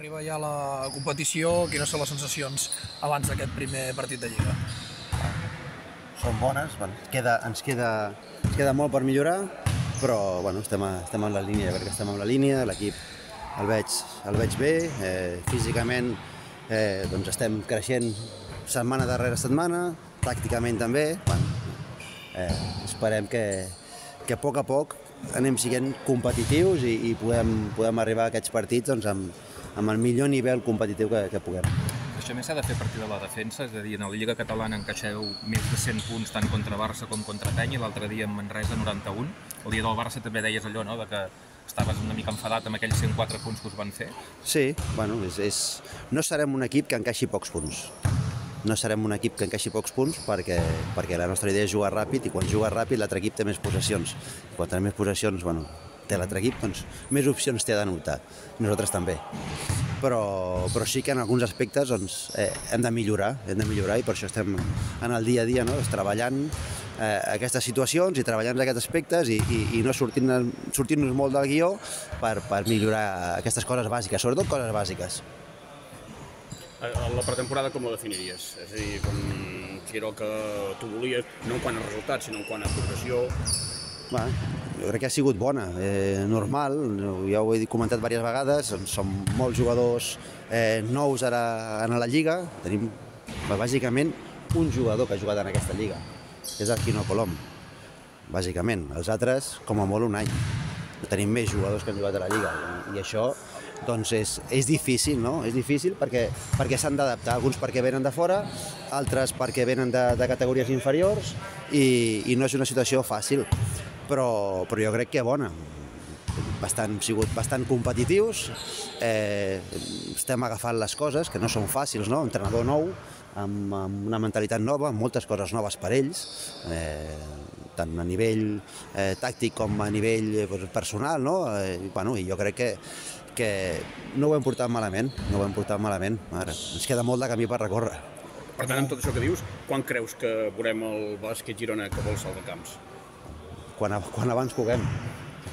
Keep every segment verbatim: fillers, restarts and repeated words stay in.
Arriba ja la competició, quines són les sensacions abans d'aquest primer partit de Lliga? Són bones, bueno, queda, ens, queda, ens queda molt per millorar, però bueno, estem, a, estem en la línia, jo crec que estem en la línia, l'equip el veig, el veig bé, eh, físicament eh, doncs estem creixent setmana darrere setmana, tàcticament també, bueno, eh, esperem que, que a poc a poc anem sent competitius i, i podem, podem arribar a aquests partits doncs, amb, amb el millor nivell competitiu que, que puguem. Això més s'ha de fer a partir de la defensa, és a dir, en la Lliga Catalana encaixeu més de cent punts tant contra Barça com contra Penya, l'altre dia en Manresa noranta-un. El dia del Barça també deies allò, no?, de que estaves una mica enfadat amb aquells cent quatre punts que us van fer. Sí, bueno, és, és... no serem un equip que encaixi pocs punts. No serem un equip que encaixi pocs punts perquè, perquè la nostra idea és jugar ràpid i quan juga ràpid l'altre equip té més possessions. Quan té més possessions, bueno, té l'altre equip, doncs més opcions té d'anotar. Nosaltres també. Però, però sí que en alguns aspectes doncs, eh, hem de millorar, hem de millorar i per això estem en el dia a dia, no? treballant eh, aquestes situacions i treballant aquests aspectes i, i, i no sortint-nos sortint molt del guió per, per millorar aquestes coses bàsiques, sobretot coses bàsiques. La pretemporada com la definiries? És a dir, com si era el que tu volies, no en quant a resultats, sinó en quant a progressió? Bé, jo crec que ha sigut bona, eh, normal, ja ho he comentat diverses vegades, som molts jugadors eh, nous ara en la Lliga, tenim bàsicament un jugador que ha jugat en aquesta Lliga, que és el Quino Colom, bàsicament, els altres com a molt un any. Tenim més jugadors que han jugat a la Lliga i això doncs és, és difícil, no? És difícil perquè, perquè s'han d'adaptar, alguns perquè venen de fora, altres perquè venen de, de categories inferiors i, i no és una situació fàcil. Però, però jo crec que bona, bastant, hem sigut bastant competitius, eh, estem agafant les coses, que no són fàcils, no? Entrenador nou, amb, amb una mentalitat nova, amb moltes coses noves per ells, eh, tant a nivell eh, tàctic com a nivell eh, personal, no? Eh, bueno, i jo crec que, que no ho hem portat malament, no ho hem portat malament, ara, ens queda molt de camí per recórrer. Per tant, amb tot això que dius, quan creus que veurem el Bàsquet Girona que vol salvar camps? Quan, quan abans puguem.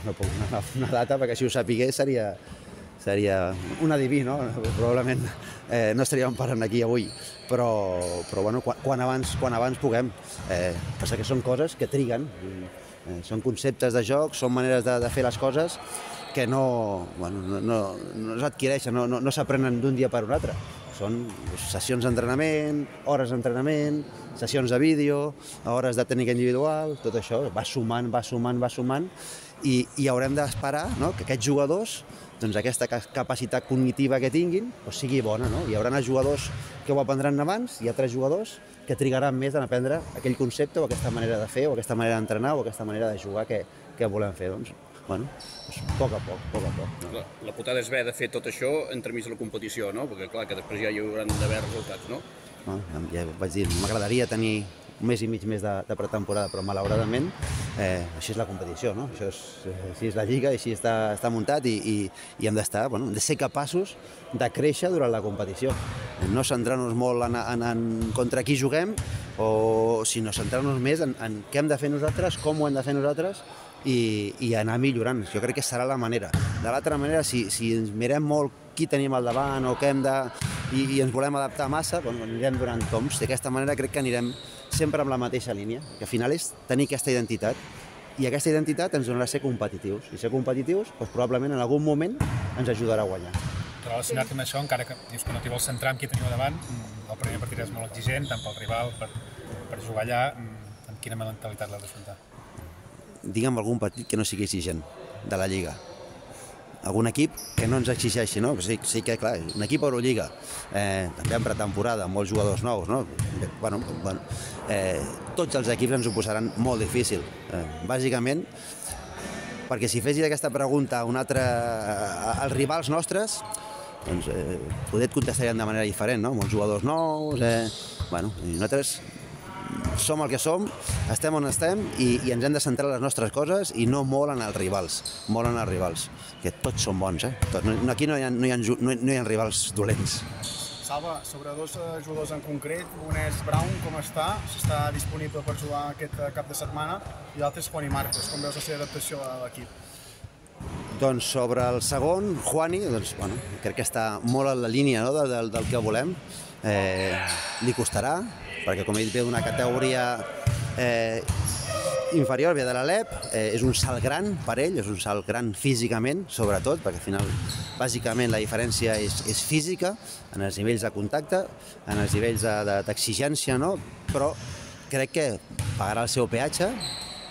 No puc una, una data, perquè si ho sapigués seria, seria un adiví, no? Probablement eh, no estaríem parlant aquí avui, però, però bueno, quan, quan, abans, quan abans puguem. Eh, passa que són coses que triguen, eh, són conceptes de joc, són maneres de, de fer les coses que no, bueno, no, no, no s'adquireixen, no, no, no s'aprenen d'un dia per un altre. Són sessions d'entrenament, hores d'entrenament, sessions de vídeo, hores de tècnica individual, tot això va sumant, va sumant, va sumant i, i haurem d'esperar, no?, que aquests jugadors, doncs aquesta capacitat cognitiva que tinguin, doncs sigui bona, no? Hi haurà els jugadors que ho aprendran abans i altres jugadors que trigaran més en aprendre aquell concepte o aquesta manera de fer o aquesta manera d'entrenar o aquesta manera de jugar que, que volem fer, doncs. Bueno, doncs, a poc a poc, a poc a poc. No? La, la putada és haver de fer tot això entremig de la competició, no? Perquè clar, que després ja hi hauran d'haver resultats, no? No, ja vaig dir, m'agradaria tenir un mes i mig més de, de pretemporada, però malauradament eh, així és la competició, no? Això és, així és la Lliga, així està, està muntat i, i, i hem d'estar, bueno, hem de ser capaços de créixer durant la competició. No centrar-nos molt en, en, en contra qui juguem, o sinó centrar-nos més en, en què hem de fer nosaltres, com ho hem de fer nosaltres, i, i anar millorant. Jo crec que serà la manera. De l'altra manera, si, si ens mirem molt qui tenim al davant o què hem de... i, i ens volem adaptar massa, doncs anirem donant toms. D'aquesta manera crec que anirem sempre amb la mateixa línia, que al final és tenir aquesta identitat i aquesta identitat ens donarà ser competitius. I ser competitius, doncs, probablement en algun moment ens ajudarà a guanyar. Relacionat amb això, encara que dius que no t'hi vols centrar amb qui teniu davant, el primer partit és molt exigent, tant pel rival, per, per jugar allà, amb quina mentalitat l'heu d'afrontar? Digue'm algun partit que no sigui exigent de la Lliga. Algun equip que no ens exigeixi, no? Sí, sí que, clar, un equip Eurolliga, eh, també en pretemporada, amb molts jugadors nous, no? Bueno, bueno, eh, tots els equips ens ho posaran molt difícil. Eh, bàsicament, perquè si fessis aquesta pregunta a un altre, als rivals nostres, doncs eh, poder et contestaríem de manera diferent, no? Molts jugadors nous, eh, bueno, i nosaltres som el que som, estem on estem i, i ens hem de centrar en les nostres coses i no molt en els rivals, molt en els rivals, que tots són bons, eh? Tots. No, aquí no hi ha, no hi ha, no hi ha rivals dolents. Salva, sobre dos jugadors en concret, un és Brown, com està, si està disponible per jugar aquest cap de setmana, i l'altre és Juan i Marcos, com veus la seva adaptació a l'equip? Doncs sobre el segon, Juani, doncs, bueno, crec que està molt en la línia, no?, del, del que volem. Eh, li costarà, perquè com he dit, ve d'una categoria eh, inferior, ve de l'Alep, eh, és un salt gran per ell, és un salt gran físicament, sobretot, perquè al final, bàsicament, la diferència és, és física, en els nivells de contacte, en els nivells d'exigència, no? Però crec que pagarà el seu peatge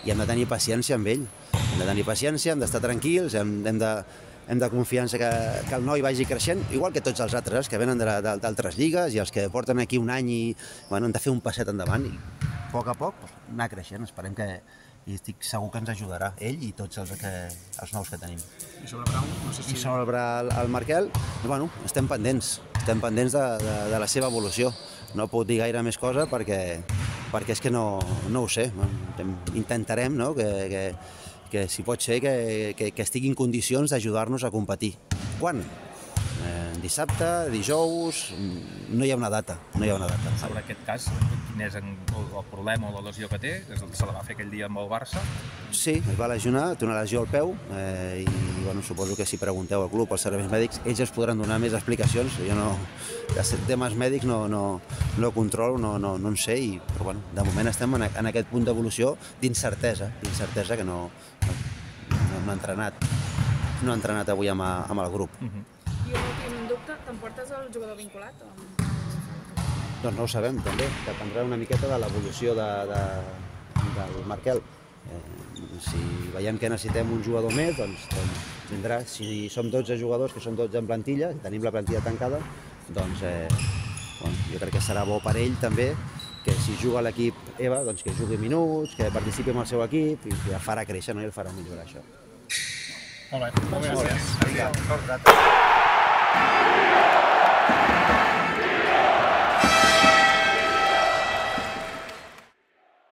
i hem de tenir paciència amb ell. Hem de tenir paciència, hem d'estar tranquils, hem, hem, de, hem de confiar que, que el noi vagi creixent, igual que tots els altres, que venen d'altres lligues i els que porten aquí un any i bueno, hem de fer un passet endavant i a poc a poc anar creixent. Esperem que, i estic segur que ens ajudarà ell i tots els, que, els nous que tenim. I sobre Brown, no sé si... I sobre el, el Markel, bueno, estem pendents, estem pendents de, de, de la seva evolució. No puc dir gaire més cosa perquè, perquè és que no, no ho sé. Intentarem, no?, que, que, que si pot ser que, que, que estigui en condicions d'ajudar-nos a competir. Quan? Eh, dissabte, dijous, no hi ha una data, no hi ha una data. Sobre aquest cas, quin és el, el problema o la lesió que té? Se la va fer aquell dia amb el Barça? Sí, es va lesionar, té una lesió al peu eh, i bueno, suposo que si pregunteu al club, als serveis mèdics, ells es podran donar més explicacions. Jo no, de temes mèdics no, no, no controlo, no, no, no en sé, i, però bueno, de moment estem en, en aquest punt d'evolució d'incertesa, d'incertesa que no, no, no, no ha entrenat, no ha entrenat avui amb, amb el grup. Uh -huh. I un últim dubte, t'emportes el jugador vinculat? O... Doncs no ho sabem, també. Dependrà una miqueta de l'evolució de, de, del Markel. Eh, si veiem que necessitem un jugador més, doncs, doncs vindrà. Si som dotze jugadors, que som dotze en plantilla, si tenim la plantilla tancada, doncs eh, bueno, jo crec que serà bo per ell també, que si juga a l'equip Eva, doncs que jugui minuts, que participi amb el seu equip i que el farà créixer, no? I el farà millorar, això. Molt bé, molt bé, gràcies. Vinga, gràcies.